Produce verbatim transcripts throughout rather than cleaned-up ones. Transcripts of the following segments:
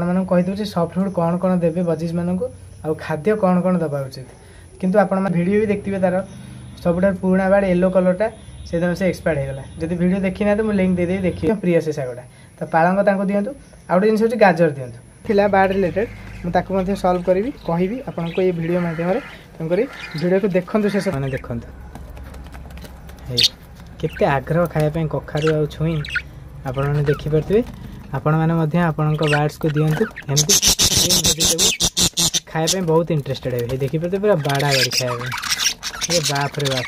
ଆପଣମାନଙ୍କୁ କହିଦେଉଛି soft food କ'ଣ କ'ଣ ଦେବେ ବଜିଜ୍ମାନଙ୍କୁ ଆଉ ଖାଦ୍ୟ କ'ଣ କ'ଣ ଦେବା ଉଚିତ। କିନ୍ତୁ ଆପଣମାନେ ଭିଡ଼ିଓ ବି ଦେଖିଥିବେ, ତାର ସବୁଠାରୁ ପୁରୁଣା ବାର୍ଡ଼ ୟେଲୋ କଲର୍ଟା ସେଦିନ ସେ ଏକ୍ସପାୟାର୍ଡ଼ ହେଇଗଲା। ଯଦି ଭିଡ଼ିଓ ଦେଖିନାହାନ୍ତି, ମୁଁ ଲିଙ୍କ୍ ଦେଇଦେବି, ଦେଖିବେ। ପ୍ରିୟ ସେ ଶାଗଟା ତ ପାଳଙ୍ଗ ତାଙ୍କୁ ଦିଅନ୍ତୁ। ଆଉ ଗୋଟେ ଜିନିଷ ହେଉଛି ଗାଜର ଦିଅନ୍ତୁ। ଥିଲା ବାର୍ଡ଼ ରିଲେଟେଡ଼, ମୁଁ ତାକୁ ମଧ୍ୟ ସଲ୍ଭ କରିବି, କହିବି ଆପଣଙ୍କୁ ଏଇ ଭିଡ଼ିଓ ମାଧ୍ୟମରେ। ତେଣୁକରି ଭିଡ଼ିଓକୁ ଦେଖନ୍ତୁ ଶେଷ ମାନେ ଦେଖନ୍ତୁ। ହେଇ କେତେ ଆଗ୍ରହ ଖାଇବା ପାଇଁ କଖାରୁ ଆଉ ଛୁଇଁ ଆପଣମାନେ ଦେଖିପାରୁଥିବେ। ଆପଣମାନେ ମଧ୍ୟ ଆପଣଙ୍କ ବାର୍ଡ଼ସକୁ ଦିଅନ୍ତୁ ଏମିତି ଭେଜିଟେବୁଲ୍, ଖାଇବା ପାଇଁ ବହୁତ ଇଣ୍ଟରେଷ୍ଟେଡ଼ ହେବେ। ଦେଖିପାରୁଥିବେ ପୁରା ବାଡ଼ା ବାଡ଼ି ଖାଇବା ପାଇଁ। ଏ ବାପରେ ବାପ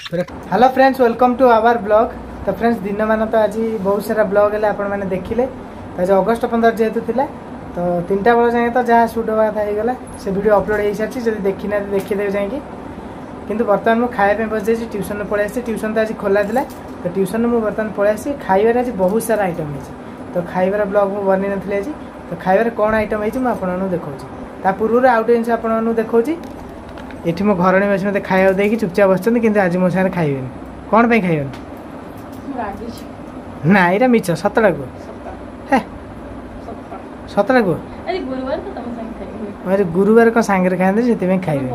ପୁରା। Hello friends, welcome to our vlog. ତ ଫ୍ରେଣ୍ଡସ୍, ଦିନମାନ ତ ଆଜି ବହୁତ ସାରା ବ୍ଲଗ୍ ହେଲେ, ଆପଣମାନେ ଦେଖିଲେ। ତ ଆଜି ଅଗଷ୍ଟ ପନ୍ଦର ଯେହେତୁ ଥିଲା, ତ ତିନିଟା ବେଳ ଯାଏଁ ତ ଯାହା ସୁଟ୍ ହେବା କଥା ହେଇଗଲା। ସେ ଭିଡ଼ିଓ ଅପଲୋଡ଼ ହେଇସାରିଛି, ଯଦି ଦେଖିନାହାନ୍ତି ଦେଖିଦେବେ ଯାଇକି। କିନ୍ତୁ ବର୍ତ୍ତମାନ ମୁଁ ଖାଇବା ପାଇଁ ବସିଯାଇଛି। ଟ୍ୟୁସନ୍ରୁ ପଳେଇ ଆସିଛି। ଟ୍ୟୁସନ୍ ତ ଆଜି ଖୋଲା ଥିଲା, ତ ଟ୍ୟୁସନ୍ରୁ ମୁଁ ବର୍ତ୍ତମାନ ପଳେଇ ଆସିଛି। ଖାଇବାରେ ଆଜି ବହୁତ ସାରା ଆଇଟମ୍ ହେଇଛି। ତ ଖାଇବାର ବ୍ଲଗ୍ ମୁଁ ବନେଇ ନଥିଲି ଆଜି। ତ ଖାଇବାରେ କ'ଣ ଆଇଟମ୍ ହେଇଛି ମୁଁ ଆପଣମାନଙ୍କୁ ଦେଖାଉଛି। ତା ପୂର୍ବରୁ ଆଉ ଗୋଟେ ଜିନିଷ ଆପଣମାନଙ୍କୁ ଦେଖାଉଛି। ଏଠି ମୋ ଘରଣୀ ବସି ମୋତେ ଖାଇବାକୁ ଦେଇକି ଚୁପଚାପ ବସିଛନ୍ତି, କିନ୍ତୁ ଆଜି ମୋ ସାଙ୍ଗରେ ଖାଇବେନି। କ'ଣ ପାଇଁ ଖାଇବେନି? ନା, ଏଇଟା ମିଛ। ସତଟା କୁହ। ହେ, ସତଟା କୁହ। ଆଜି ଗୁରୁବାର କ'ଣ ସାଙ୍ଗରେ ଖାଆନ୍ତି, ସେଥିପାଇଁ ଖାଇବେନି।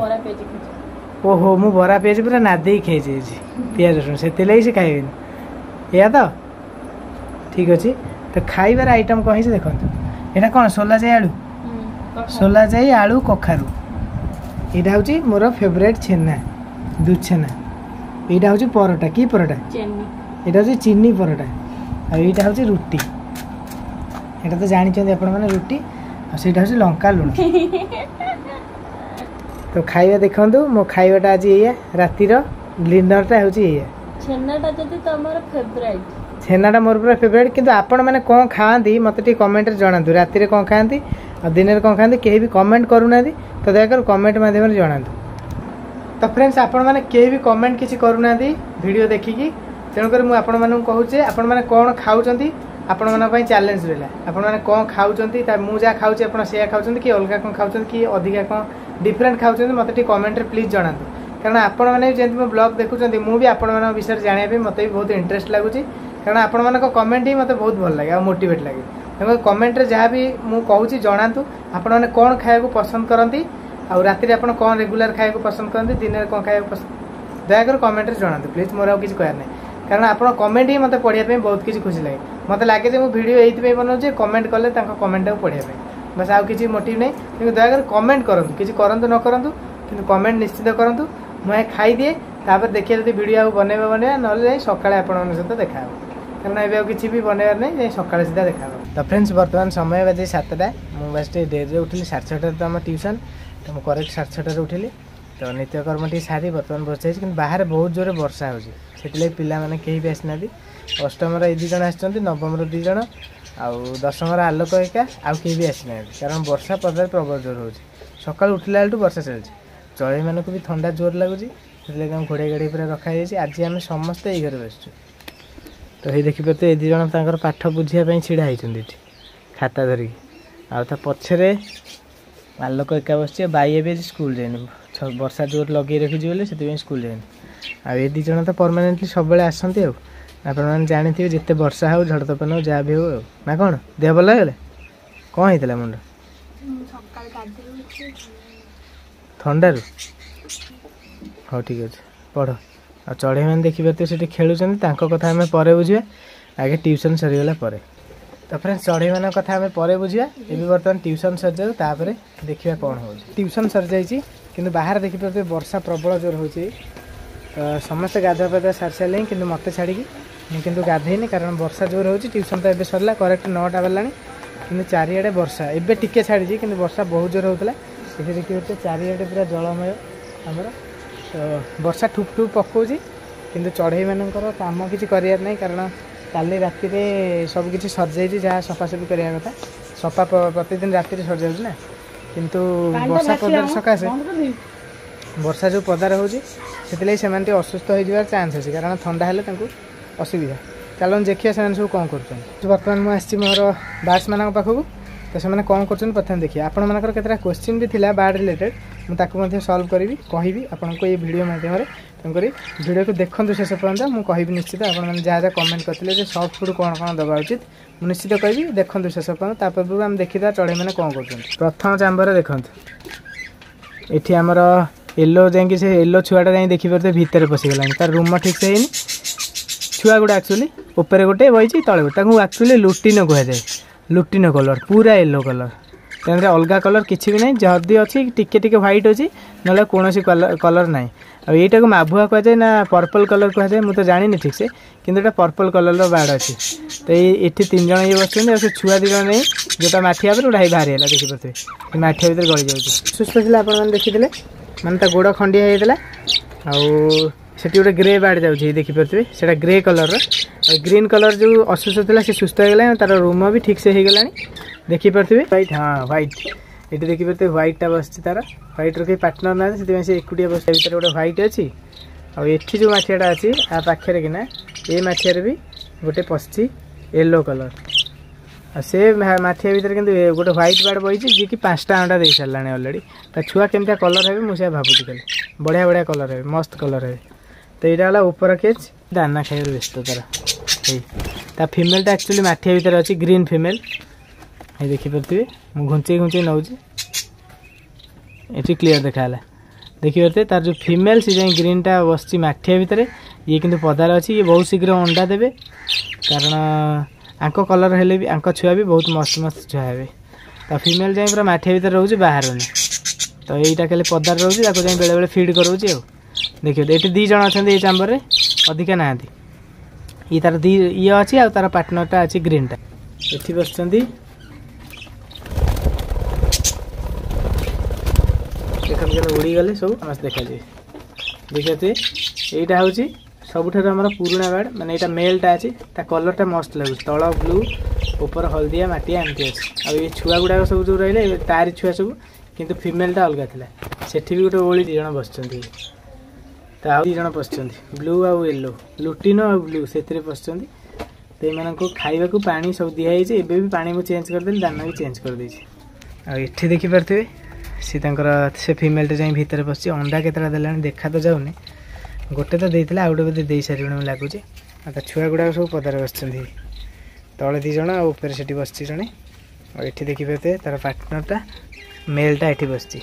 ଓହୋ, ମୁଁ ବରା ପିଆଜ ପୁରା ନାଦେଇକି ଖାଇଛି ଆଜି, ପିଆଜ ରସୁଣ, ସେଥିଲାଗି ସେ ଖାଇବେନି। ଏଇଆ ତ ଠିକ୍ ଅଛି। ତ ଖାଇବାର ଆଇଟମ୍ କ'ଣ ହେଇଛି ଦେଖନ୍ତୁ। ଏଇଟା କ'ଣ? ସୋଲା ଯାଇ ଆଳୁ, ସୋଲା ଯାଇ ଆଳୁ କଖାରୁ। ଏଇଟା ହେଉଛି ମୋର ଫେଭରେଟ୍ ଛେନା, ଦୁଧ ଛେନା। ଏଇଟା ହେଉଛି ପରଟା। କି ପରଟା? ଏଇଟା ହେଉଛି ଚିନି ପରଟା। ଆଉ ଏଇଟା ହେଉଛି ରୁଟି, ଏଇଟା ତ ଜାଣିଛନ୍ତି ଆପଣମାନେ ରୁଟି। ଆଉ ସେଇଟା ହେଉଛି ଲଙ୍କା ଲୁଣ। ତ ଖାଇବା ଦେଖନ୍ତୁ, ମୋ ଖାଇବାଟା ଆଜି ଏଇଆ। ରାତିର ଡିନରଟା ହେଉଛି ଏଇଆ। ଛେନାଟା ଯଦି ତମର ଫେଭରାଇଟ୍? ଛେନାଟା ମୋର ପୁରା ଫେଭରାଇଟ୍। କିନ୍ତୁ ଆପଣମାନେ କ'ଣ ଖାଆନ୍ତି ମୋତେ ଟିକେ କମେଣ୍ଟରେ ଜଣାନ୍ତୁ। ରାତିରେ କ'ଣ ଖାଆନ୍ତି ଆଉ ଦିନରେ କ'ଣ ଖାଆନ୍ତି, କେହି ବି କମେଣ୍ଟ କରୁନାହାନ୍ତି। ତ ଦୟାକରି କମେଣ୍ଟ ମାଧ୍ୟମରେ ଜଣାନ୍ତୁ। ତ ଫ୍ରେଣ୍ଡସ୍, ଆପଣମାନେ କେହି ବି କମେଣ୍ଟ କିଛି କରୁନାହାନ୍ତି ଭିଡ଼ିଓ ଦେଖିକି। ତେଣୁକରି ମୁଁ ଆପଣମାନଙ୍କୁ କହୁଛି, ଆପଣମାନେ କ'ଣ ଖାଉଛନ୍ତି, ଆପଣମାନଙ୍କ ପାଇଁ ଚ୍ୟାଲେଞ୍ଜ ରହିଲା। ଆପଣମାନେ କ'ଣ ଖାଉଛନ୍ତି, ତା ମୁଁ ଯାହା ଖାଉଛି ଆପଣ ସେଇଆ ଖାଉଛନ୍ତି କି ଅଲଗା କ'ଣ ଖାଉଛନ୍ତି କି ଅଧିକା କ'ଣ ଡିଫରେଣ୍ଟ ଖାଉଛନ୍ତି, ମୋତେ ଟିକେ କମେଣ୍ଟରେ ପ୍ଲିଜ୍ ଜଣାନ୍ତୁ। କାରଣ ଆପଣମାନେ ବି ଯେମିତି ମୋ ବ୍ଲଗ୍ ଦେଖୁଛନ୍ତି, ମୁଁ ବି ଆପଣମାନଙ୍କ ବିଷୟରେ ଜାଣିବା ପାଇଁ ମୋତେ ବି ବହୁତ ଇଣ୍ଟରେଷ୍ଟ ଲାଗୁଛି। କାରଣ ଆପଣମାନଙ୍କ କମେଣ୍ଟ ହିଁ ମୋତେ ବହୁତ ଭଲ ଲାଗେ ଆଉ ମୋଟିଭେଟ୍ ଲାଗେ। ତେଣୁ କମେଣ୍ଟରେ ଯାହା ବି ମୁଁ କହୁଛି ଜଣାନ୍ତୁ। ଆପଣମାନେ କ'ଣ ଖାଇବାକୁ ପସନ୍ଦ କରନ୍ତି ଆଉ ରାତିରେ ଆପଣ କ'ଣ ରେଗୁଲାର ଖାଇବାକୁ ପସନ୍ଦ କରନ୍ତି, ଦିନରେ କ'ଣ ଖାଇବାକୁ ପସନ୍ଦ, ଦୟାକରି କମେଣ୍ଟରେ ଜଣାନ୍ତୁ ପ୍ଲିଜ୍। ମୋର ଆଉ କିଛି କହିବାର ନାହିଁ, କାରଣ ଆପଣ କମେଣ୍ଟ ହିଁ ମୋତେ ପଢ଼ିବା ପାଇଁ ବହୁତ କିଛି ଖୁସି ଲାଗେ। ମୋତେ ଲାଗେ ଯେ ମୁଁ ଭିଡ଼ିଓ ଏଇଥିପାଇଁ ବନାଉଛି, କମେଣ୍ଟ କଲେ ତାଙ୍କ କମେଣ୍ଟଟାକୁ ପଢ଼ିବା ପାଇଁ। ବାସ୍, ଆଉ କିଛି ମୋଟିଭ୍ ନାହିଁ। କିନ୍ତୁ ଦୟାକରି କମେଣ୍ଟ କରନ୍ତୁ। କିଛି କରନ୍ତୁ ନ କରନ୍ତୁ, କିନ୍ତୁ କମେଣ୍ଟ ନିଶ୍ଚିତ କରନ୍ତୁ। ମୁଁ ଖାଇଦିଏ, ତାପରେ ଦେଖିବା ଯଦି ଭିଡ଼ିଓ ଆଉ ବନେଇବା ବନେଇବା, ନହେଲେ ଯାଇ ସକାଳେ ଆପଣମାନଙ୍କ ସହିତ ଦେଖା ହେବ। କାରଣ ଏବେ ଆଉ କିଛି ବି ବନେଇବାର ନାହିଁ, ଯାଇ ସକାଳେ ସିଧା ଦେଖା ହେବ। ତ ଫ୍ରେଣ୍ଡସ୍, ବର୍ତ୍ତମାନ ସମୟ ବାଜେ ସାତଟା। ମୁଁ ବାସ୍ ଟିକେ ଡେରିରେ ଉଠିଲି। ସାଢ଼େ ଛଅଟାରେ ତ ଆମ ଟ୍ୟୁସନ୍, ତ ମୁଁ କରେକ୍ଟ ସାଢ଼େ ଛଅଟାରେ ଉଠିଲି। ତ ନିତ୍ୟକର୍ମ ଟିକେ ସାରି ବର୍ତ୍ତମାନ ବସିଯାଇଛି। କିନ୍ତୁ ବାହାରେ ବହୁତ ଜୋରରେ ବର୍ଷା ହେଉଛି, ସେଥିଲାଗି ପିଲାମାନେ କେହି ବି ଆସିନାହାନ୍ତି। ଅଷ୍ଟମର ଏଇ ଦୁଇ ଜଣ ଆସିଛନ୍ତି, ନବମର ଦୁଇ ଜଣ ଆଉ ଦଶମର ଆଲୋକ ଏକା, ଆଉ କେହି ବି ଆସିନାହାନ୍ତି। କାରଣ ବର୍ଷା ପଦାରେ ପ୍ରବଳ ଜୋର ହେଉଛି। ସକାଳୁ ଉଠିଲା ବେଳଠୁ ବର୍ଷା ଚାଲିଛି। ଚଢ଼େଇମାନଙ୍କୁ ବି ଥଣ୍ଡା ଜୋର ଲାଗୁଛି, ସେଥିଲାଗି ତାଙ୍କୁ ଘୋଡ଼େଇ ଘୋଡ଼େଇ ପୁରା ରଖାଯାଇଛି। ଆଜି ଆମେ ସମସ୍ତେ ଏଇ ଘରେ ବସିଛୁ। ତ ଏଇ ଦେଖିପାରୁଥିବେ, ଏ ଦୁଇ ଜଣ ତାଙ୍କର ପାଠ ବୁଝିବା ପାଇଁ ଛିଡ଼ା ହେଇଛନ୍ତି ଏଠି ଖାତା ଧରିକି। ଆଉ ତା ପଛରେ ଆଲୋକ ଏକା ବସିଛି। ବାଇ ଏବେ ଆଜି ସ୍କୁଲ ଯାଇନି, ବର୍ଷା ଜୋର ଲଗେଇ ରଖିଛି ବୋଲି ସେଥିପାଇଁ ସ୍କୁଲ ଯାଇନି। ଆଉ ଏ ଦୁଇ ଜଣ ତ ପରମାନେଣ୍ଟଲି ସବୁବେଳେ ଆସନ୍ତି। ଆଉ ଆପଣମାନେ ଜାଣିଥିବେ, ଯେତେ ବର୍ଷା ହଉ, ଝଡ଼ ତୋଫାନ ହଉ, ଯାହା ବି ହଉ। ଆଉ ନା କ'ଣ ଦେହ ଭଲ ହେଇଗଲା? କ'ଣ ହେଇଥିଲା ମୁଣ୍ଡ? ଥଣ୍ଡାରୁ? ହଉ ଠିକ୍ ଅଛି, ପଢ଼। ଆଉ ଚଢ଼େଇମାନେ ଦେଖିପାରୁଥିବେ ସେଠି ଖେଳୁଛନ୍ତି। ତାଙ୍କ କଥା ଆମେ ପରେ ବୁଝିବା, ଆଗେ ଟ୍ୟୁସନ୍ ସରିଗଲା ପରେ। ତ ଫ୍ରେଣ୍ଡସ୍, ଚଢ଼େଇମାନଙ୍କ କଥା ଆମେ ପରେ ବୁଝିବା। ଏବେ ବର୍ତ୍ତମାନ ଟ୍ୟୁସନ୍ ସରିଯାଉ, ତାପରେ ଦେଖିବା କ'ଣ ହେଉଛି। ଟ୍ୟୁସନ୍ ସରିଯାଇଛି, କିନ୍ତୁ ବାହାରେ ଦେଖିପାରୁଥିବେ ବର୍ଷା ପ୍ରବଳ ଜୋର ହେଉଛି। ତ ସମସ୍ତେ ଗାଧୁଆ ପାଧୁଆ ସାରି ସାରିଲେଣି, କିନ୍ତୁ ମୋତେ ଛାଡ଼ିକି। ମୁଁ କିନ୍ତୁ ଗାଧେଇନି, କାରଣ ବର୍ଷା ଜୋର ହେଉଛି। ଟ୍ୟୁସନ୍ ତ ଏବେ ସରିଲା, କରେକ୍ଟ ନଅଟା ବାଜିଲାଣି, କିନ୍ତୁ ଚାରିଆଡ଼େ ବର୍ଷା। ଏବେ ଟିକେ ଛାଡ଼ିଛି, କିନ୍ତୁ ବର୍ଷା ବହୁତ ଜୋର ହେଉଥିଲା। ଏଠି ଦେଖିପାରୁଥିବେ ଚାରିଆଡ଼େ ପୁରା ଜଳମୟ ଆମର। ତ ବର୍ଷା ଠୁପ୍ ଠୁପ୍ ପକାଉଛି, କିନ୍ତୁ ଚଢ଼େଇମାନଙ୍କର କାମ କିଛି କରିବାର ନାହିଁ, କାରଣ କାଲି ରାତିରେ ସବୁ କିଛି ସରିଯାଇଛି ଯାହା ସଫାସଫି କରିବା କଥା। ସଫା ପ୍ରତିଦିନ ରାତିରେ ସରିଯାଉଛି ନା, କିନ୍ତୁ ବର୍ଷା ପଦାର ସକାଶେ, ବର୍ଷା ଯେଉଁ ପଦାରେ ହେଉଛି, ସେଥିଲାଗି ସେମାନେ ଟିକେ ଅସୁସ୍ଥ ହେଇଯିବାର ଚାନ୍ସ ଅଛି, କାରଣ ଥଣ୍ଡା ହେଲେ ତାଙ୍କୁ ଅସୁବିଧା। ଚାଲନ୍ତୁ ଦେଖିବା ସେମାନେ ସବୁ କ'ଣ କରୁଛନ୍ତି। ବର୍ତ୍ତମାନ ମୁଁ ଆସିଛି ମୋର ବାର୍ଡ଼ସମାନଙ୍କ ପାଖକୁ। ତ ସେମାନେ କ'ଣ କରୁଛନ୍ତି ପ୍ରଥମେ ଦେଖିବା। ଆପଣମାନଙ୍କର କେତେଟା କୋଶ୍ଚିନ୍ ବି ଥିଲା ବାର୍ଡ଼ ରିଲେଟେଡ଼, ମୁଁ ତାକୁ ମଧ୍ୟ ସଲ୍ଭ କରିବି, କହିବି ଆପଣଙ୍କୁ ଏଇ ଭିଡ଼ିଓ ମାଧ୍ୟମରେ। ତେଣୁକରି ଭିଡ଼ିଓକୁ ଦେଖନ୍ତୁ ଶେଷ ପର୍ଯ୍ୟନ୍ତ, ମୁଁ କହିବି ନିଶ୍ଚିତ। ଆପଣମାନେ ଯାହା ଯାହା କମେଣ୍ଟ କରିଥିଲେ ଯେ ସଫ୍ଟ ଫୁଡ଼୍ କ'ଣ କ'ଣ ଦେବା ଉଚିତ, ମୁଁ ନିଶ୍ଚିତ କହିବି। ଦେଖନ୍ତୁ ଶେଷ ପର୍ଯ୍ୟନ୍ତ। ତା ପୂର୍ବରୁ ଆମେ ଦେଖିଦେବା ଚଢ଼େଇମାନେ କ'ଣ କରୁଛନ୍ତି। ପ୍ରଥମ ଚାମ୍ବରରେ ଦେଖନ୍ତୁ, ଏଠି ଆମର ୟେଲୋ ଯାଇକି ସେ ୟେଲୋ ଛୁଆଟା ଯାଇ ଦେଖିପାରୁଥିବେ ଭିତରେ ପଶିଗଲାଣି। ତାର ରୁମ ଠିକ୍ ସେ ହେଇନି। ଛୁଆ ଗୁଡ଼ା ଆକ୍ଚୁଆଲି ଉପରେ ଗୋଟେ ବଇଛି, ତଳେ ଗୋଟେ। ତାକୁ ଆକ୍ଚୁଆଲି ଲୁଟିନୋ କୁହାଯାଏ। ଲୁଟିନୋ କଲର୍, ପୁରା ୟେଲୋ କଲର୍, ତେଣୁକରି ଅଲଗା କଲର୍ କିଛି ବି ନାହିଁ। ଯଦି ଅଛି ଟିକେ ଟିକେ ହ୍ୱାଇଟ୍ ଅଛି, ନହେଲେ କୌଣସି କଲର୍ ନାହିଁ। ଆଉ ଏଇଟାକୁ ମାଭୁଆ କୁହାଯାଏ ନା ପର୍ପଲ୍ କଲର୍ କୁହାଯାଏ, ମୁଁ ତ ଜାଣିନି ଠିକ୍ସେ, କିନ୍ତୁ ଏଇଟା ପର୍ପଲ୍ କଲର୍ର ବାର୍ଡ଼ ଅଛି। ତ ଏଇ ଏଠି ତିନି ଜଣ ଇଏ ବସିଛନ୍ତି, ଆଉ ସେ ଛୁଆ ଦୁଇ ଜଣ ନେଇ ଯେଉଁଟା ମାଠିଆ ଉପରେ ଗୋଟେ ବାହାରି ହେଲା, ଦେଖିପାରୁଥିବେ ସେ ମାଠିଆ ଭିତରେ ଗଳି ଯାଉଛି। ସୁସ୍ଥ ଥିଲା ଆପଣମାନେ ଦେଖିଥିଲେ, ମାନେ ତା ଗୋଡ଼ ଖଣ୍ଡିଆ ହେଇଯାଇଥିଲା। ଆଉ ସେଠି ଗୋଟେ ଗ୍ରେ ବାର୍ଡ଼ ଯାଉଛି, ଦେଖିପାରୁଥିବେ ସେଇଟା ଗ୍ରେ କଲର୍ର। ଆଉ ଗ୍ରୀନ୍ କଲର୍ ଯେଉଁ ଅସୁସ୍ଥ ଥିଲା ସେ ସୁସ୍ଥ ହେଇଗଲାଣି, ତାର ରୁମ ବି ଠିକ୍ସେ ହେଇଗଲାଣି, ଦେଖିପାରୁଥିବେ। ହ୍ୱାଇଟ୍, ହଁ ହ୍ୱାଇଟ୍, ଏଠି ଦେଖିପାରୁଥିବେ ହ୍ୱାଇଟ୍ଟା ବସିଛି। ତାର ହ୍ୱାଇଟ୍ର କେହି ପାର୍ଟନର୍ ନାହାନ୍ତି, ସେଥିପାଇଁ ସେ ଏକୁଟିଆ ବସିଛି। ଭିତରେ ଗୋଟେ ହ୍ୱାଇଟ୍ ଅଛି। ଆଉ ଏଠି ଯେଉଁ ମାଠିଆଟା ଅଛି ଆ ପାଖରେ କିନା, ଏ ମାଠିଆରେ ବି ଗୋଟେ ପଶିଛି ୟେଲୋ କଲର୍। ଆଉ ସେ ମାଠିଆ ଭିତରେ କିନ୍ତୁ ଗୋଟେ ହ୍ୱାଇଟ୍ ବାର୍ଡ଼ ବହିଛି, ଯିଏକି ପାଞ୍ଚଟା ଅଣ୍ଡା ଦେଇ ସାରିଲାଣି ଅଲରେଡ଼ି। ତା ଛୁଆ କେମିତିଆ କଲର୍ ହେବେ ମୁଁ ସେୟା ଭାବୁଛି ଖାଲି। ବଢ଼ିଆ ବଢ଼ିଆ କଲର୍ ହେବେ, ମସ୍ତ କଲର୍ ହେବେ। ତ ଏଇଟା ହେଲା ଉପର କେଜ୍। ଦାନା ଖାଇବାରେ ବ୍ୟସ୍ତ ତାର। ଏଇ ତା ଫିମେଲ୍ଟା ଆକ୍ଚୁଆଲି ମାଠିଆ ଭିତରେ ଅଛି, ଗ୍ରୀନ୍ ଫିମେଲ୍, ଏଇ ଦେଖିପାରୁଥିବେ। ମୁଁ ଘୁଞ୍ଚେଇ ଘୁଞ୍ଚେଇ ନେଉଛି, ଏଠି କ୍ଲିଅର୍ ଦେଖାହେଲା, ଦେଖିପାରୁଥିବେ। ତାର ଯେଉଁ ଫିମେଲ୍ ସେ ଯାଇ ଗ୍ରୀନ୍ଟା ବସିଛି ମାଠିଆ ଭିତରେ, ଇଏ କିନ୍ତୁ ପଦାରେ ଅଛି। ଇଏ ବହୁତ ଶୀଘ୍ର ଅଣ୍ଡା ଦେବେ, କାରଣ ଆଙ୍କ କଲର୍ ହେଲେ ବି ଆଙ୍କ ଛୁଆ ବି ବହୁତ ମସ୍ତ ମସ୍ତ ଛୁଆ ହେବେ। ତା ଫିମେଲ୍ ଯାଇ ପୁରା ମାଠିଆ ଭିତରେ ରହୁଛି, ବାହାରୁନି। ତ ଏଇଟା ଖାଲି ପଦାରେ ରହୁଛି, ତାକୁ ଯାଇ ବେଳେବେଳେ ଫିଡ଼୍ କରାଉଛି। ଆଉ ଦେଖିବ ଏଠି ଦୁଇ ଜଣ ଅଛନ୍ତି ଏଇ ଚାମ୍ବରରେ, ଅଧିକା ନାହାନ୍ତି। ଇଏ ତାର ଦୁଇ ଇଏ ଅଛି, ଆଉ ତାର ପାର୍ଟନରଟା ଅଛି ଗ୍ରୀନ୍ଟା। ଏଠି ବସିଛନ୍ତି, ଦେଖନ୍ତୁ କେମିତି ଉଡ଼ିଗଲେ ସବୁ ସମସ୍ତେ ଦେଖାଯିବେ। ଦେଖିପାରୁଥିବେ, ଏଇଟା ହେଉଛି ସବୁଠାରୁ ଆମର ପୁରୁଣା ବାର୍ଡ଼, ମାନେ ଏଇଟା ମେଲ୍ଟା ଅଛି। ତା କଲର୍ଟା ମସ୍ତ ଲାଗୁଛି, ତଳ ବ୍ଲୁ ଉପର ହଳଦିଆ ମାଟିଆ ଏମିତି ଅଛି। ଆଉ ଏ ଛୁଆ ଗୁଡ଼ାକ ସବୁ ଯେଉଁ ରହିଲେ ତାରି ଛୁଆ ସବୁ, କିନ୍ତୁ ଫିମେଲ୍ଟା ଅଲଗା ଥିଲା। ସେଠି ବି ଗୋଟେ ଓଳି ଦୁଇ ଜଣ ବସିଛନ୍ତି, ତ ଆଉ ଦୁଇ ଜଣ ପଶିଛନ୍ତି, ବ୍ଲୁ ଆଉ ୟେଲୋ, ଲୁଟିନୋ ଆଉ ବ୍ଲୁ ସେଥିରେ ପଶିଛନ୍ତି। ତ ଏମାନଙ୍କୁ ଖାଇବାକୁ ପାଣି ସବୁ ଦିଆହେଇଛି। ଏବେ ବି ପାଣି ମୁଁ ଚେଞ୍ଜ କରିଦେଲି, ଦାନା ବି ଚେଞ୍ଜ କରିଦେଇଛି। ଆଉ ଏଠି ଦେଖିପାରୁଥିବେ ସେ ତାଙ୍କର ସେ ଫିମେଲ୍ଟା ଯାଇ ଭିତରେ ପଶିଛି। ଅଣ୍ଡା କେତେଟା ଦେଲାଣି ଦେଖା ତ ଯାଉନି, ଗୋଟେ ତ ଦେଇଥିଲା, ଆଉ ଗୋଟେ ବୋଧେ ଦେଇସାରିବଣି ମୁଁ ଲାଗୁଛି। ଆଉ ତା ଛୁଆ ଗୁଡ଼ାକ ସବୁ ପଦାରେ ବସିଛନ୍ତି, ତଳେ ଦୁଇ ଜଣ ଆଉ ଉପରେ ସେଠି ବସିଛି ଜଣେ। ଆଉ ଏଠି ଦେଖିପାରୁଥିବେ ତାର ପାର୍ଟନରଟା ମେଲ୍ଟା ଏଠି ବସିଛି।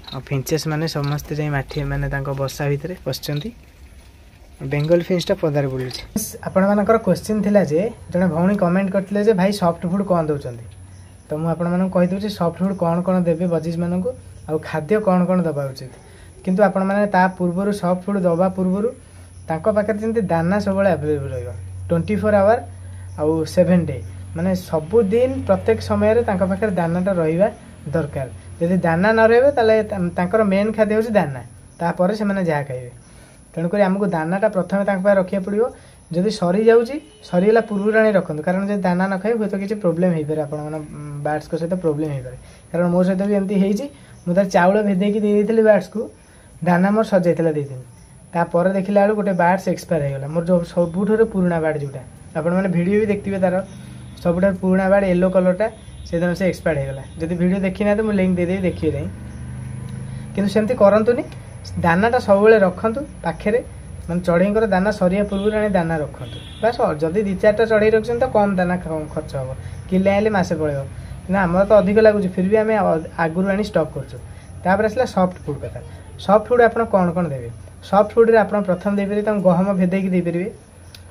ଆଉ ଫିଞ୍ଚେସ୍ ମାନେ ସମସ୍ତେ ଯାଇ ମାଠି ମାନେ ତାଙ୍କ ବସା ଭିତରେ ପଶିଛନ୍ତି। ବେଙ୍ଗଲ ଫିଞ୍ଚଟା ପଦାରେ ବୁଲୁଛି। ଆପଣମାନଙ୍କର କୋଶ୍ଚିନ୍ ଥିଲା ଯେ ଜଣେ ଭଉଣୀ କମେଣ୍ଟ କରିଥିଲେ ଯେ ଭାଇ ସଫ୍ଟ ଫୁଡ଼୍ କ'ଣ ଦେଉଛନ୍ତି। ତ ମୁଁ ଆପଣମାନଙ୍କୁ କହିଦେଉଛି ସଫ୍ଟ ଫୁଡ଼୍ କ'ଣ କ'ଣ ଦେବେ ବଜିଜମାନଙ୍କୁ, ଆଉ ଖାଦ୍ୟ କ'ଣ କ'ଣ ଦେବା ଉଚିତ। କିନ୍ତୁ ଆପଣମାନେ ତା ପୂର୍ବରୁ ସଫ୍ଟ ଫୁଡ଼୍ ଦେବା ପୂର୍ବରୁ ତାଙ୍କ ପାଖରେ ଯେମିତି ଦାନା ସବୁବେଳେ ଆଭେଲେବୁଲ୍ ରହିବ, ଟ୍ୱେଣ୍ଟି ଫୋର୍ ଆୱାର ଆଉ ସେଭେନ୍ ଡେ, ମାନେ ସବୁଦିନ ପ୍ରତ୍ୟେକ ସମୟରେ ତାଙ୍କ ପାଖରେ ଦାନାଟା ରହିବା ଦରକାର। ଯଦି ଦାନା ନ ରହିବ ତାହେଲେ ତାଙ୍କର ମେନ୍ ଖାଦ୍ୟ ହେଉଛି ଦାନା, ତାପରେ ସେମାନେ ଯାହା ଖାଇବେ। ତେଣୁକରି ଆମକୁ ଦାନାଟା ପ୍ରଥମେ ତାଙ୍କ ପାଖରେ ରଖିବାକୁ ପଡ଼ିବ। ଯଦି ସରିଯାଉଛି, ସରିଗଲା ପୂର୍ବରୁ ଆଣି ରଖନ୍ତୁ, କାରଣ ଯଦି ଦାନା ନ ଖାଇବେ ହୁଏତ କିଛି ପ୍ରୋବ୍ଲେମ୍ ହେଇପାରେ, ଆପଣଙ୍କ ବାର୍ଡ଼ସ୍ଙ୍କ ସହିତ ପ୍ରୋବ୍ଲେମ୍ ହେଇପାରେ। କାରଣ ମୋ ସହିତ ବି ଏମିତି ହେଇଛି, ମୁଁ ତାର ଚାଉଳ ଭେଦେଇକି ଦେଇ ଦେଇଥିଲି ବାର୍ଡ଼ସ୍କୁ, ଦାନା ମୋର ସରିଯାଇଥିଲା ଦେଇଥିଲି। ତାପରେ ଦେଖିଲା ବେଳକୁ ଗୋଟେ ବାର୍ଡ଼ସ୍ ଏକ୍ସପାୟାର ହେଇଗଲା, ମୋର ଯେଉଁ ସବୁଠାରୁ ପୁରୁଣା ବାର୍ଡ଼, ଯେଉଁଟା ଆପଣମାନେ ଭିଡ଼ିଓ ବି ଦେଖିଥିବେ, ତାର ସବୁଠାରୁ ପୁରୁଣା ବାର୍ଡ଼ ୟେଲୋ କଲର୍ଟା, ସେଦିନ ସେ ଏକ୍ସପାୟାର ହେଇଗଲା। ଯଦି ଭିଡ଼ିଓ ଦେଖିନାହାନ୍ତି ମୁଁ ଲିଙ୍କ୍ ଦେଇଦେବି, ଦେଖିବେ ଯାଇ। କିନ୍ତୁ ସେମିତି କରନ୍ତୁନି, ଦାନାଟା ସବୁବେଳେ ରଖନ୍ତୁ ପାଖରେ, ମାନେ ଚଢ଼େଇଙ୍କର ଦାନା ସରିବା ପୂର୍ବରୁ ଆଣି ଦାନା ରଖନ୍ତୁ। ବାସ୍, ଯଦି ଦୁଇ ଚାରିଟା ଚଢ଼େଇ ରଖୁଛନ୍ତି ତ କମ୍ ଦାନା ଖର୍ଚ୍ଚ ହେବ, କିଲେ ଆଣିଲେ ମାସେ ପଳେଇବ। କିନ୍ତୁ ଆମର ତ ଅଧିକ ଲାଗୁଛି, ଫିର୍ ବି ଆମେ ଆଗରୁ ଆଣି ଷ୍ଟକ୍ କରୁଛୁ। ତାପରେ ଆସିଲା ସଫ୍ଟ ଫୁଡ଼୍ କଥା। ସଫ୍ଟ ଫୁଡ଼୍ ଆପଣ କ'ଣ କ'ଣ ଦେବେ? ସଫ୍ଟ ଫୁଡ଼୍ରେ ଆପଣ ପ୍ରଥମ ଦେଇପାରିବେ ତାଙ୍କୁ ଗହମ ଭେଦେଇକି ଦେଇପାରିବେ।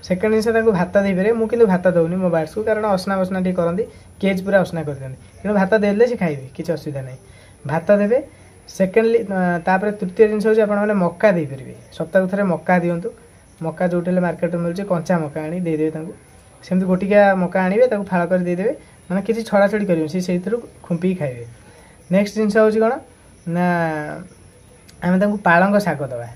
ସେକେଣ୍ଡ ଜିନିଷ ତାଙ୍କୁ ଭାତ ଦେଇପାରିବେ। ମୁଁ କିନ୍ତୁ ଭାତ ଦେଉନି ମୋ ବାର୍ଡ଼ସ୍କୁ, କାରଣ ଅସନା ବସନା ଟିକେ କରନ୍ତି, କେଜ୍ ପୁରା ଅସନା କରିଦିଅନ୍ତି। କିନ୍ତୁ ଭାତ ଦେଲେ ସେ ଖାଇବେ, କିଛି ଅସୁବିଧା ନାହିଁ, ଭାତ ଦେବେ। ସେକେଣ୍ଡଲି ତାପରେ ତୃତୀୟ ଜିନିଷ ହେଉଛି ଆପଣମାନେ ମକା ଦେଇପାରିବେ। ସପ୍ତାହକୁ ଥରେ ମକା ଦିଅନ୍ତୁ। ମକା ଯେଉଁଠି ହେଲେ ମାର୍କେଟରେ ମିଳୁଛି, କଞ୍ଚା ମକା ଆଣି ଦେଇଦେବେ ତାଙ୍କୁ। ସେମିତି ଗୋଟିକିଆ ମକା ଆଣିବେ, ତାକୁ ଫାଳ କରି ଦେଇଦେବେ, ମାନେ କିଛି ଛଡ଼ାଛଡ଼ି କରିବେନି, ସେ ସେଇଥିରୁ ଖୁମ୍ପିକି ଖାଇବେ। ନେକ୍ସଟ ଜିନିଷ ହେଉଛି କ'ଣ ନା ଆମେ ତାଙ୍କୁ ପାଳଙ୍ଗ ଶାଗ ଦେବା।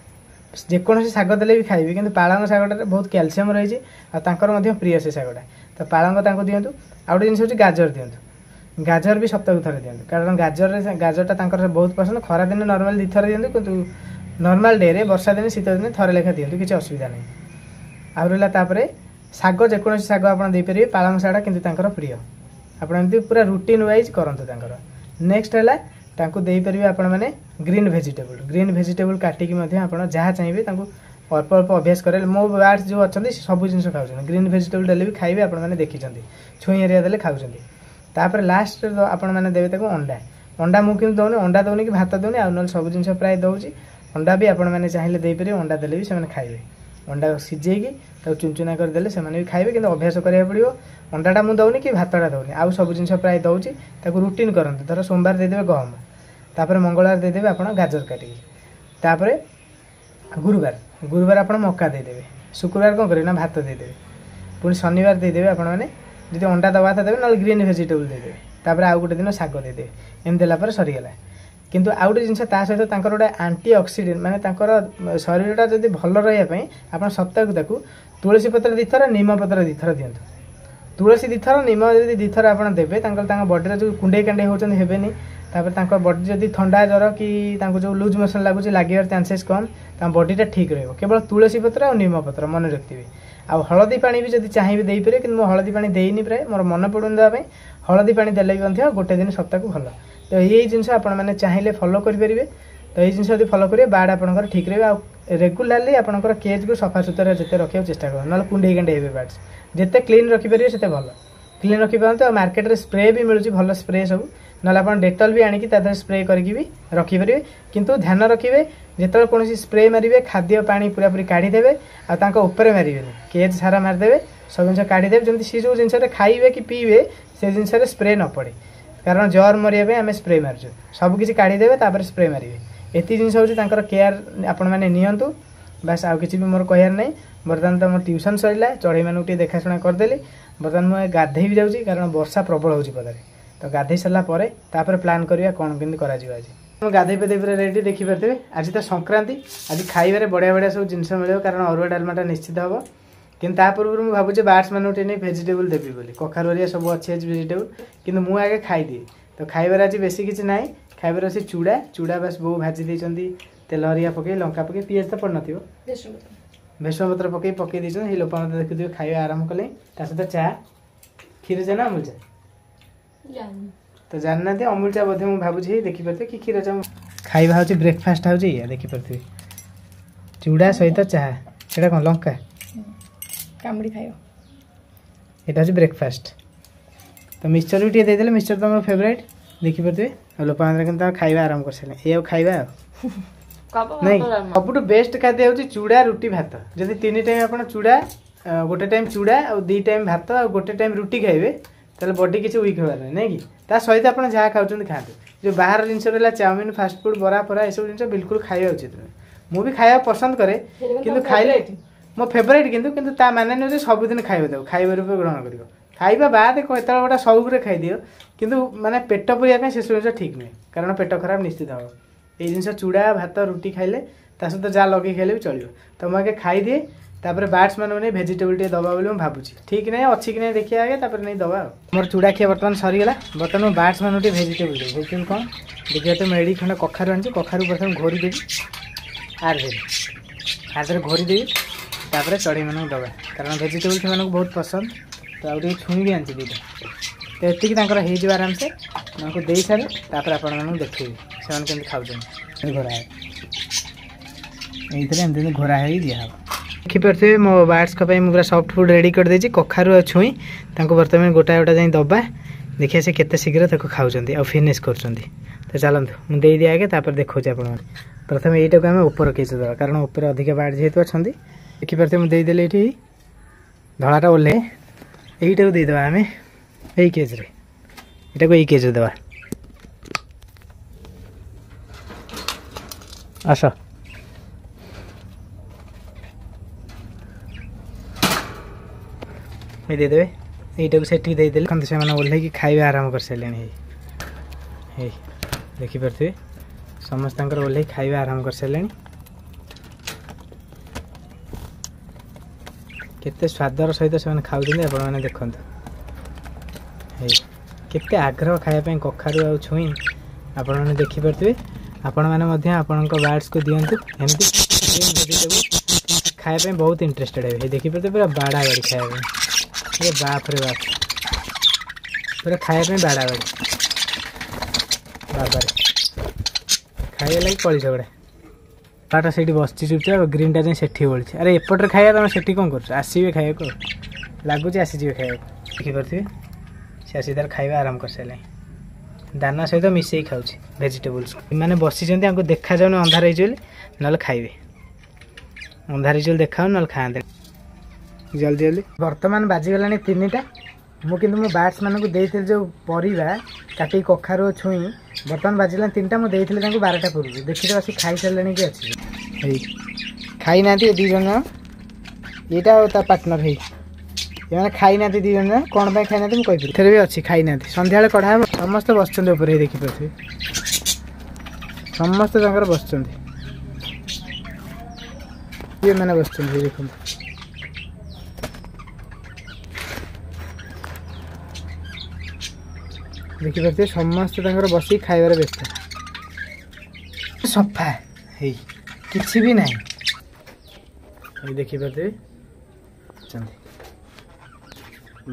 ଯେକୌଣସି ଶାଗ ଦେଲେ ବି ଖାଇବେ, କିନ୍ତୁ ପାଳଙ୍ଗ ଶାଗଟାରେ ବହୁତ କ୍ୟାଲସିୟମ୍ ରହିଛି ଆଉ ତାଙ୍କର ମଧ୍ୟ ପ୍ରିୟ ସେ ଶାଗଟା, ତ ପାଳଙ୍ଗ ତାଙ୍କୁ ଦିଅନ୍ତୁ। ଆଉ ଗୋଟେ ଜିନିଷ ହେଉଛି ଗାଜର ଦିଅନ୍ତୁ। ଗାଜର ବି ସପ୍ତାହକୁ ଥରେ ଦିଅନ୍ତୁ, କାରଣ ଗାଜରରେ ଗାଜରଟା ତାଙ୍କର ବହୁତ ପସନ୍ଦ। ଖରାଦିନେ ନର୍ମାଲ ଦୁଇ ଥର ଦିଅନ୍ତୁ, କିନ୍ତୁ ନର୍ମାଲ ଡେରେ ବର୍ଷା ଦିନେ ଶୀତ ଦିନେ ଥରେ ଲେଖା ଦିଅନ୍ତୁ, କିଛି ଅସୁବିଧା ନାହିଁ। ଆଉ ରହିଲା ତାପରେ ଶାଗ, ଯେକୌଣସି ଶାଗ ଆପଣ ଦେଇପାରିବେ, ପାଳଙ୍ଗ ଶାଗଟା କିନ୍ତୁ ତାଙ୍କର ପ୍ରିୟ। ଆପଣ ଏମିତି ପୁରା ରୁଟିନ୍ ୱାଇଜ୍ କରନ୍ତୁ ତାଙ୍କର। ନେକ୍ସଟ ହେଲା, ତାଙ୍କୁ ଦେଇପାରିବେ ଆପଣମାନେ ଗ୍ରୀନ୍ ଭେଜିଟେବୁଲ୍। ଗ୍ରୀନ୍ ଭେଜିଟେବୁଲ୍ କାଟିକି ମଧ୍ୟ ଆପଣ ଯାହା ଚାହିଁବେ ତାଙ୍କୁ ଅଳ୍ପ ଅଳ୍ପ ଅଭ୍ୟାସ କରେଇଲେ। ମୋ ବାର୍ଡସ୍ ଯେଉଁ ଅଛନ୍ତି, ସେ ସବୁ ଜିନିଷ ଖାଉଛନ୍ତି। ଗ୍ରୀନ୍ ଭେଜିଟେବୁଲ୍ ଦେଲେ ବି ଖାଇବେ। ଆପଣମାନେ ଦେଖିଛନ୍ତି, ଛୁଇଁ ଏରିଆ ଦେଲେ ଖାଉଛନ୍ତି। ତାପରେ ଲାଷ୍ଟରେ ଆପଣମାନେ ଦେବେ ତାକୁ ଅଣ୍ଡା। ଅଣ୍ଡା ମୁଁ କିନ୍ତୁ ଦେଉନି, ଅଣ୍ଡା ଦେଉନି କି ଭାତ ଦେଉନି। ଆଉ ନହେଲେ ସବୁ ଜିନିଷ ପ୍ରାୟ ଦେଉଛି। ଅଣ୍ଡା ବି ଆପଣମାନେ ଚାହିଁଲେ ଦେଇପାରିବେ। ଅଣ୍ଡା ଦେଲେ ବି ସେମାନେ ଖାଇବେ। ଅଣ୍ଡା ସିଝେଇକି ତାକୁ ଚୁନଚୁନା କରିଦେଲେ ସେମାନେ ବି ଖାଇବେ, କିନ୍ତୁ ଅଭ୍ୟାସ କରିବାକୁ ପଡ଼ିବ। ଅଣ୍ଡାଟା ମୁଁ ଦେଉନି କି ଭାତଟା ଦେଉନି, ଆଉ ସବୁ ଜିନିଷ ପ୍ରାୟ ଦେଉଛି। ତାକୁ ରୁଟିନ୍ କରନ୍ତୁ। ଧର ସୋମବାର ଦେଇଦେବେ ଗହମ, ତାପରେ ମଙ୍ଗଳବାର ଦେଇଦେବେ ଆପଣ ଗାଜର କାଟିକି, ତାପରେ ଗୁରୁବାର ଗୁରୁବାର ଆପଣ ମକା ଦେଇଦେବେ, ଶୁକ୍ରବାର କ'ଣ କରିବେ ନା ଭାତ ଦେଇଦେବେ, ପୁଣି ଶନିବାର ଦେଇଦେବେ ଆପଣମାନେ ଯଦି ଅଣ୍ଡା ଦେବା କଥା ଦେବେ, ନହେଲେ ଗ୍ରୀନ୍ ଭେଜିଟେବୁଲ୍ ଦେଇଦେବେ, ତାପରେ ଆଉ ଗୋଟେ ଦିନ ଶାଗ ଦେଇଦେବେ। ଏମିତି ଦେଲା ପରେ ସରିଗଲା। କିନ୍ତୁ ଆଉ ଗୋଟେ ଜିନିଷ, ତା ସହିତ ତାଙ୍କର ଗୋଟେ ଆଣ୍ଟି ଅକ୍ସିଡେଣ୍ଟ, ମାନେ ତାଙ୍କର ଶରୀରଟା ଯଦି ଭଲ ରହିବା ପାଇଁ ଆପଣ ସପ୍ତାହକୁ ତାକୁ ତୁଳସୀ ପତ୍ର ଦୁଇଥର, ନିମ ପତ୍ର ଦୁଇଥର ଦିଅନ୍ତୁ। ତୁଳସୀ ଦୁଇଥର, ନିମ ଯଦି ଦୁଇଥର ଆପଣ ଦେବେ, ତାଙ୍କର ତାଙ୍କ ବଡ଼ିରେ ଯେଉଁ କୁଣ୍ଡେଇ କାଣ୍ଡେଇ ହେଉଛନ୍ତି ହେବେନି। ତାପରେ ତାଙ୍କ ବଡି ଯଦି ଥଣ୍ଡା ଜ୍ୱର କି ତାଙ୍କୁ ଯେଉଁ ଲୁଜ୍ ମୋସନ୍ ଲାଗୁଛି, ଲାଗିବାର ଚାନ୍ସେସ୍ କମ୍। ତାଙ୍କ ବଡ଼ିଟା ଠିକ୍ ରହିବ। କେବଳ ତୁଳସୀ ପତ୍ର ଆଉ ନିମ ପତ୍ର ମନେ ରଖିଥିବେ। ଆଉ ହଳଦୀ ପାଣି ବି ଯଦି ଚାହିଁବେ ଦେଇପାରିବେ, କିନ୍ତୁ ମୁଁ ହଳଦୀ ପାଣି ଦେଇନି ପ୍ରାୟ, ମୋର ମନେ ପଡ଼ୁନି ଦେବା ପାଇଁ। ହଳଦୀ ପାଣି ଦେଲେ ବି ମଧ୍ୟ ଗୋଟେ ଦିନ ସପ୍ତାହକୁ ଭଲ। ତ ଏଇ ଜିନିଷ ଆପଣମାନେ ଚାହିଁଲେ ଫଲୋ କରିପାରିବେ। ତ ଏଇ ଜିନିଷ ଯଦି ଫଲୋ କରିବେ, ବାର୍ଡ଼ ଆପଣଙ୍କର ଠିକ୍ ରହିବେ। ଆଉ ରେଗୁଲାରଲି ଆପଣଙ୍କର କେଜ୍କୁ ସଫାସୁତୁରା ଯେତେ ରଖିବାକୁ ଚେଷ୍ଟା କରନ୍ତୁ, ନହେଲେ କୁଣ୍ଡେଇ କାଣ୍ଡେଇ ହେବେ ବାର୍ଡ଼ସ୍। ଯେତେ କ୍ଲିନ୍ ରଖିପାରିବେ ସେତେ ଭଲ। କ୍ଲିନ୍ ରଖିପାରନ୍ତୁ। ଆଉ ମାର୍କେଟରେ ସ୍ପ୍ରେ ବି ମିଳୁଛି, ଭଲ ସ୍ପ୍ରେ ସବୁ। ନହେଲେ ଆପଣ ଡେଟଲ୍ ବି ଆଣିକି ତା ଦେହରେ ସ୍ପ୍ରେ କରିକି ବି ରଖିପାରିବେ। କିନ୍ତୁ ଧ୍ୟାନ ରଖିବେ, ଯେତେବେଳେ କୌଣସି ସ୍ପ୍ରେ ମାରିବେ, ଖାଦ୍ୟ ପାଣି ପୁରାପୁରି କାଢ଼ିଦେବେ ଆଉ ତାଙ୍କ ଉପରେ ମାରିବେନି। କେଜ୍ ସାରା ମାରିଦେବେ, ସବୁ ଜିନିଷ କାଢ଼ିଦେବେ, ଯେମିତି ସେ ଯେଉଁ ଜିନିଷରେ ଖାଇବେ କି ପିଇବେ ସେ ଜିନିଷରେ ସ୍ପ୍ରେ ନ ପଡ଼େ। କାରଣ ଜର୍ ମରିବା ପାଇଁ ଆମେ ସ୍ପ୍ରେ ମାରୁଛୁ। ସବୁ କିଛି କାଢ଼ିଦେବେ, ତାପରେ ସ୍ପ୍ରେ ମାରିବେ। ଏତିକି ଜିନିଷ ହେଉଛି ତାଙ୍କର କେୟାର ଆପଣମାନେ ନିଅନ୍ତୁ। ବାସ୍, ଆଉ କିଛି ବି ମୋର କହିବାର ନାହିଁ। ବର୍ତ୍ତମାନ ତ ମୋ ଟ୍ୟୁସନ୍ ସରିଲା, ଚଢ଼େଇମାନଙ୍କୁ ଟିକେ ଦେଖାଶୁଣା କରିଦେଲି। ବର୍ତ୍ତମାନ ମୁଁ ଗାଧେଇ ବି ଯାଉଛି, କାରଣ ବର୍ଷା ପ୍ରବଳ ହେଉଛି ପଦାରେ। ତ ଗାଧେଇ ସାରିଲା ପରେ ତାପରେ ପ୍ଲାନ୍ କରିବା କ'ଣ କେମିତି କରାଯିବ ଆଜି। ମୁଁ ଗାଧେଇ ପାଧେଇ ପୁରା ରେଡ଼ି, ଦେଖିପାରୁଥିବେ। ଆଜି ତ ସଂକ୍ରାନ୍ତି, ଆଜି ଖାଇବାରେ ବଢ଼ିଆ ବଢ଼ିଆ ସବୁ ଜିନିଷ ମିଳିବ, କାରଣ ଅରୁଆ ଡାଲମାଟା ନିଶ୍ଚିତ ହେବ। କିନ୍ତୁ ତା ପୂର୍ବରୁ ମୁଁ ଭାବୁଛି ବାର୍ଡ଼ସ୍ ମାନଙ୍କୁ ଟିକେ ନେଇ ଭେଜିଟେବୁଲ୍ ଦେବି ବୋଲି। କଖାରୁ ହେରିକା ସବୁ ଅଛି ଆଜି ଭେଜିଟେବୁଲ୍, କିନ୍ତୁ ମୁଁ ଆଗେ ଖାଇଦିଏ। ତ ଖାଇବାରେ ଆଜି ବେଶୀ କିଛି ନାହିଁ। ଖାଇବାରେ ଅଛି ଚୁଡ଼ା। ଚୁଡ଼ା ବାସ୍ ବୋଉ ଭାଜି ଦେଇଛନ୍ତି ତେଲ ହରିକା ପକେଇ, ଲଙ୍କା ପକେଇ, ପିଆଜ ତ ପଡ଼ିନଥିବ, ଭେସୁଙ୍ଗା ପତ୍ର ପକେଇ ପକେଇ ଦେଇଛନ୍ତି। ସେଇ ଲୋକ ମୋତେ ଦେଖୁଥିବେ ଖାଇବା ଆରମ୍ଭ କଲେ। ତା ସହିତ ଚା, କ୍ଷୀର ଚା ନା ଅମୁଲ ଚା ତ ଜାଣିନାହାନ୍ତି। ଅମୁଲ ଚା ବୋଧେ ମୁଁ ଭାବୁଛି, ଦେଖିପାରୁଥିବେ, କି କ୍ଷୀର ଚା। ଖାଇବା ହେଉଛି, ବ୍ରେକଫାଷ୍ଟ ହେଉଛି ଏଇଆ, ଦେଖିପାରୁଥିବେ, ଚୁଡ଼ା ସହିତ ଚାହା। ସେଇଟା କ'ଣ ଲଙ୍କା କାମୁଡ଼ି ଖାଇବ? ଏଇଟା ହେଉଛି ବ୍ରେକଫାଷ୍ଟ। ତ ମିକ୍ସଚର ବି ଟିକେ ଦେଇଦେଲେ, ମିକ୍ସଚର ତ ମୋର ଫେଭରାଇଟ୍, ଦେଖିପାରୁଥିବେ। ଆଉ ଲୋକମାନେ କିନ୍ତୁ ତାଙ୍କ ଖାଇବା ଆରମ୍ଭ କରିସାରିଲେ। ଏଇ ଆଉ ଖାଇବା ଆଉ ନାଇଁ। ସବୁଠୁ ବେଷ୍ଟ ଖାଦ୍ୟ ହେଉଛି ଚୁଡ଼ା, ରୁଟି, ଭାତ। ଯଦି ତିନି ଟାଇମ୍ ଆପଣ ଚୁଡ଼ା, ଗୋଟେ ଟାଇମ୍ ଚୁଡ଼ା ଆଉ ଦୁଇ ଟାଇମ୍ ଭାତ ଆଉ ଗୋଟେ ଟାଇମ୍ ରୁଟି ଖାଇବେ, ତାହେଲେ ବଡି କିଛି ୱିକ୍ ହେବାର ନାହିଁ, ନାଇଁ କି? ତା ସହିତ ଆପଣ ଯାହା ଖାଉଛନ୍ତି ଖାଆନ୍ତୁ। ଯେଉଁ ବାହାର ଜିନିଷ ରହିଲା, ଚାଉମିନ, ଫାଷ୍ଟଫୁଡ଼, ବରା ଫରା, ଏସବୁ ଜିନିଷ ବିଲକୁଲ ଖାଇବା ଉଚିତ ନୁହେଁ। ମୁଁ ବି ଖାଇବା ପସନ୍ଦ କରେ, କିନ୍ତୁ ଖାଇଲେ ମୋ ଫେଭରାଇଟ୍, କିନ୍ତୁ କିନ୍ତୁ ତା ମାନେ ନୁହେଁ ଯେ ସବୁଦିନ ଖାଇବା ଦେବ, ଖାଇବା ରୂପେ ଗ୍ରହଣ କରିବ। ଖାଇବା ବାଦ କେତେବେଳେ ଗୋଟେ ସଉକରେ ଖାଇଦିଅ, କିନ୍ତୁ ମାନେ ପେଟ ପୁରିବା ପାଇଁ ସେସବୁ ଜିନିଷ ଠିକ୍ ନୁହେଁ, କାରଣ ପେଟ ଖରାପ ନିଶ୍ଚିତ ହେବ। ଏଇ ଜିନିଷ ଚୁଡ଼ା, ଭାତ, ରୁଟି ଖାଇଲେ, ତା ସହିତ ଯାହା ଲଗେଇ ଖାଇଲେ ବି ଚଳିବ। ତ ମୁଁ ଆଗେ ଖାଇଦିଏ, ତାପରେ ବାର୍ଡ଼ସ୍ ମାନଙ୍କୁ ନେଇ ଭେଜିଟେବୁଲ୍ ଟିକେ ଦେବା ବୋଲି ମୁଁ ଭାବୁଛି। ଠିକ୍ ନାହିଁ ଅଛି କି ନାହିଁ, ଦେଖିବା ଆଗେ, ତାପରେ ନେଇ ଦେବା। ଆଉ ମୋର ଚୁଡ଼ା ଖିଆ ବର୍ତ୍ତମାନ ସରିଗଲା। ବର୍ତ୍ତମାନ ମୁଁ ବାର୍ଡ଼ସ୍ ମାନଙ୍କୁ ଟିକେ ଭେଜିଟେବୁଲ୍ ଦେବି। ଭେଜିଟେବୁଲ୍ କ'ଣ ଦେଖିବା ତ। ମେଡ଼ି ଖଣ୍ଡେ କଖାରୁ ଆଣିଛି। କଖାରୁ ପ୍ରଥମେ ଘୋରି ଦେବି, ଆର ଦେବି ହାତରେ ଘୋରି ଦେବି, ତାପରେ ଚଢ଼େଇମାନଙ୍କୁ ଦେବା, କାରଣ ଭେଜିଟେବୁଲ୍ ସେମାନଙ୍କୁ ବହୁତ ପସନ୍ଦ। ତ ଆଉ ଟିକେ ଛୁଇଁ ବି ଆଣିଛି ଦୁଇଟା। ତ ଏତିକି ତାଙ୍କର ହେଇଯିବ ଆରାମସେ। ତାଙ୍କୁ ଦେଇସାରେ ତାପରେ ଆପଣମାନଙ୍କୁ ଦେଖେଇବି ସେମାନେ କେମିତି ଖାଉଛନ୍ତି। ଘୋରା ଏଇଥିରେ ଏମିତି ଏମିତି ଘୋରା ହେଇକି ଦିଆହେବ। ଦେଖିପାରୁଥିବେ, ମୋ ବାର୍ଡ଼ସ୍ଙ୍କ ପାଇଁ ମୁଁ ପୁରା ସଫ୍ଟ ଫୁଡ଼୍ ରେଡ଼ି କରିଦେଇଛି, କଖାରୁ ଆଉ ଛୁଇଁ। ତାଙ୍କୁ ବର୍ତ୍ତମାନ ଗୋଟା ଗୋଟା ଯାଇ ଦେବା, ଦେଖିବା ସେ କେତେ ଶୀଘ୍ର ତାକୁ ଖାଉଛନ୍ତି ଆଉ ଫିନିଶ୍ କରୁଛନ୍ତି। ତ ଚାଲନ୍ତୁ, ମୁଁ ଦେଇଦିଏ ଆଗେ, ତାପରେ ଦେଖାଉଛି ଆପଣମାନେ। ପ୍ରଥମେ ଏଇଟାକୁ ଆମେ ଉପର କେଜ୍ ଦେବା, କାରଣ ଉପରେ ଅଧିକା ବାର୍ଡ଼ ଯେହେତୁ ଅଛନ୍ତି। ଦେଖିପାରୁଥିବେ, ମୁଁ ଦେଇଦେଲି ଏଇଠି। ଧଳାଟା ଓହ୍ଲେ। ଏଇଟାକୁ ଦେଇଦେବା ଆମେ ଏଇ କେଜ୍ରେ, ଏଇଟାକୁ ଏଇ କେଜ୍ରେ ଦେବା। ଆସ, ଏଇ ଦେଇଦେବେ। ଏଇଟାକୁ ସେଠି ଦେଇଦେଲେ। ଦେଖନ୍ତୁ, ସେମାନେ ଓହ୍ଲେଇକି ଖାଇବା ଆରମ୍ଭ କରିସାରିଲେଣି। ହେଇ ହେଇ, ଦେଖିପାରୁଥିବେ, ସମସ୍ତଙ୍କର ଓହ୍ଲେଇ ଖାଇବା ଆରମ୍ଭ କରିସାରିଲେଣି। କେତେ ସ୍ୱାଦର ସହିତ ସେମାନେ ଖାଉଛନ୍ତି ଆପଣମାନେ ଦେଖନ୍ତୁ। ହେଇ, କେତେ ଆଗ୍ରହ ଖାଇବା ପାଇଁ କଖାରୁ ଆଉ ଛୁଇଁ, ଆପଣମାନେ ଦେଖିପାରୁଥିବେ। ଆପଣମାନେ ମଧ୍ୟ ଆପଣଙ୍କ ବାର୍ଡ଼ସକୁ ଦିଅନ୍ତୁ ଏମିତି ଭେଜିଟେବୁଲ୍, ଖାଇବା ପାଇଁ ବହୁତ ଇଣ୍ଟରେଷ୍ଟେଡ଼ ହେବେ। ଦେଖିପାରୁଥିବେ, ପୁରା ବାଡ଼ା ବାଡ଼ି ଖାଇବା ପାଇଁ। ଏ ବାପରେ ବାପ! ପୁରା ଖାଇବା ପାଇଁ ବାଡ଼ାବାଡ଼ି। ବାବାରେ, ଖାଇବା ଲାଗି କଳି ଝଗଡ଼ା। ତାଟା ସେଇଠି ବସିଛି ଚୁପଚାପ, ଗ୍ରୀନଟା ଯାଇ ସେଠି ବଳିଛି। ଆରେ ଏପଟରେ ଖାଇବା, ତମେ ସେଠି କ'ଣ କରୁଛ? ଆସିବେ ଖାଇବାକୁ ଆଉ, ଲାଗୁଛି ଆସିଯିବେ ଖାଇବାକୁ। ଦେଖିପାରୁଥିବେ, ସେ ଆସି ତାର ଖାଇବା ଆରମ୍ଭ କରିସାରିଲାଣି। ଦାନା ସହିତ ମିଶେଇ ଖାଉଛି ଭେଜିଟେବୁଲ୍ସ। ଏମାନେ ବସିଛନ୍ତି, ଆଙ୍କୁ ଦେଖାଯାଉନି ଅନ୍ଧାର ହେଇଛି ବୋଲି, ନହେଲେ ଖାଇବେ। ଅନ୍ଧାର ହେଇଛି ବୋଲି ଦେଖାଉନି, ନହେଲେ ଖାଆନ୍ତେ ଜଲ୍ଦି ଜଲ୍ଦି। ବର୍ତ୍ତମାନ ବାଜିଗଲାଣି ତିନିଟା। ମୁଁ କିନ୍ତୁ ମୋ ବାର୍ଡସ୍ ମାନଙ୍କୁ ଦେଇଥିଲି ଯେଉଁ ପରିବା କାଟିକି କଖାରୁ ଛୁଇଁ। ବର୍ତ୍ତମାନ ବାଜିଲାଣି ତିନିଟା, ମୁଁ ଦେଇଥିଲି ତାଙ୍କୁ ବାରଟା ପୂର୍ବରୁ। ଦେଖିଦେବା ଆସି ଖାଇସାରିଲେଣି କି ଅଛି। ହେଇ ଖାଇନାହାନ୍ତି ଏ ଦୁଇ ଜଣ, ଏଇଟା ଆଉ ତା ପାର୍ଟନର। ହେଇ ଏମାନେ ଖାଇନାହାନ୍ତି ଦୁଇ ଜଣ, କ'ଣ ପାଇଁ ଖାଇନାହାନ୍ତି ମୁଁ କହିପାରିବି। ଏଥିରେ ବି ଅଛି, ଖାଇନାହାନ୍ତି। ସନ୍ଧ୍ୟାବେଳେ କଢ଼ା ହେବ। ସମସ୍ତେ ବସିଛନ୍ତି ଉପରେ, ହେଇ ଦେଖିପାରୁଥିବେ, ସମସ୍ତେ ତାଙ୍କର ବସିଛନ୍ତି। ଏମାନେ ବସିଛନ୍ତି, ହେଇ ଦେଖନ୍ତୁ। ଦେଖିପାରୁଥିବେ, ସମସ୍ତେ ତାଙ୍କର ବସିକି ଖାଇବାରେ ବ୍ୟସ୍ତ। ସଫା ହେଇ କିଛି ବି ନାହିଁ, ଏଇ ଦେଖିପାରୁଥିବେ।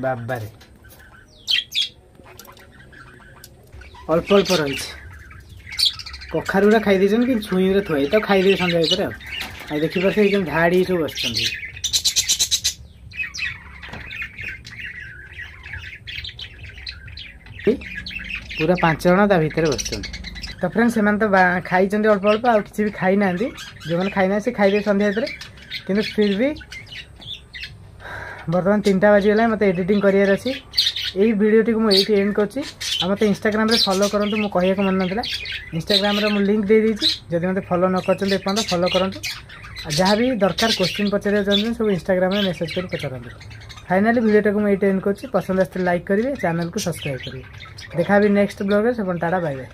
ବାବାରେ, ଅଳ୍ପ ଅଳ୍ପ ରହିଛି। କଖାରୁ ଗୁଡ଼ା ଖାଇ ଦେଇଛନ୍ତି, କିନ୍ତୁ ଛୁଇଁ ଗୁଡ଼ା ଥୁଆ ହେଇଛି, ତାକୁ ଖାଇଦେବେ ସନ୍ଧ୍ୟା ଭିତରେ। ଆଉ ଆଉ ଦେଖିପାରୁଥିବେ, କେମିତି ଧାଡ଼ି ସବୁ ବସିଛନ୍ତି। ପୁରା ପାଞ୍ଚ ଜଣ ତା ଭିତରେ ବସିଛନ୍ତି। ତ ଫ୍ରେଣ୍ଡ, ସେମାନେ ତ ଖାଇଛନ୍ତି ଅଳ୍ପ ଅଳ୍ପ, ଆଉ କିଛି ବି ଖାଇନାହାନ୍ତି। ଯେଉଁମାନେ ଖାଇନାହାନ୍ତି ସେ ଖାଇଦେବେ ସନ୍ଧ୍ୟା ଭିତରେ। କିନ୍ତୁ ଫିର୍ ବି ବର୍ତ୍ତମାନ ତିନିଟା ବାଜିଗଲାଣି, ମୋତେ ଏଡ଼ିଟିଂ କରିବାର ଅଛି। ଏଇ ଭିଡ଼ିଓଟିକୁ ମୁଁ ଏଇଠି ଏଣ୍ଡ କରୁଛି। ଆଉ ମୋତେ ଇନଷ୍ଟାଗ୍ରାମରେ ଫଲୋ କରନ୍ତୁ, ମୁଁ କହିବାକୁ ମନେ ନଥିଲା। ଇନଷ୍ଟାଗ୍ରାମରେ ମୁଁ ଲିଙ୍କ୍ ଦେଇଦେଇଛି, ଯଦି ମୋତେ ଫଲୋ ନ କରିଛନ୍ତି ଏପର୍ଯ୍ୟନ୍ତ ଫଲୋ କରନ୍ତୁ। ଆଉ ଯାହା ବି ଦରକାର କୋଶ୍ଚିନ୍ ପଚାରିବାକୁ ଚାହୁଁଛନ୍ତି, ସବୁ ଇନଷ୍ଟାଗ୍ରାମରେ ମେସେଜ୍ କରି ପଚାରନ୍ତୁ। ଫାଇନାଲି ଭିଡ଼ିଓଟାକୁ ମୁଁ ଏଇଠି ଏଣ୍ଡ କରୁଛି। ପସନ୍ଦ ଆସିଲେ ଲାଇକ୍ କରିବେ, ଚ୍ୟାନେଲକୁ ସବସ୍କ୍ରାଇବ୍ କରିବେ। ଦେଖା ବି ନେକ୍ସଟ ବ୍ଲଗ୍ରେ। ସେପର୍ଯ୍ୟନ୍ତ ଟାଟା, ବାଇ ବାଇ।